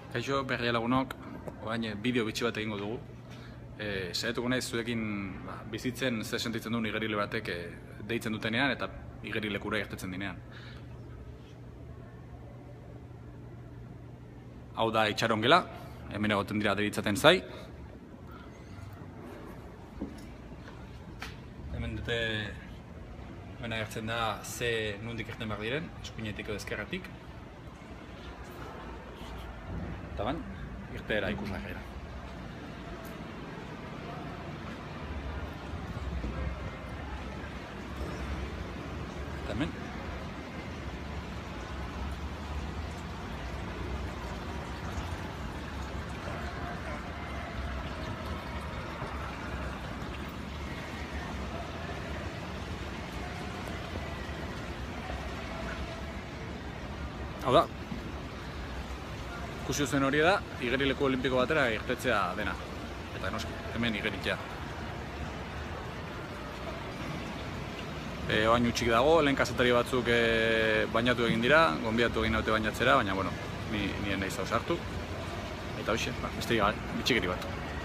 Kaixo, berria lagunok, orain bideo bitxi bat egingo dugu. Saiatuko naiz zuekin bizitzen zer sentitzen duen igerile batek deitzen dutenean eta igerilekura irtetzen dinean. Hau da itxaron gela, hemen egoten dira deritzaten zai. Hemen dute agertzen da ze nondik irten behar diren, eskuinetik edo ezkerratik. Eta ban, irteera ikusla gaira. Eta hemen. Hau da, ikusi zuen hori da, igerileku olimpiko batera irtetzea dena. Eta noski, hemen igeritzea. Oain utxik dago, lehen kazetari batzuk bainatu egin dira, gonbidatu egin naute bainatzera, baina bueno, nien nahi zauz hartu. Eta hoxe, besterik gabe, bitxikeri bat.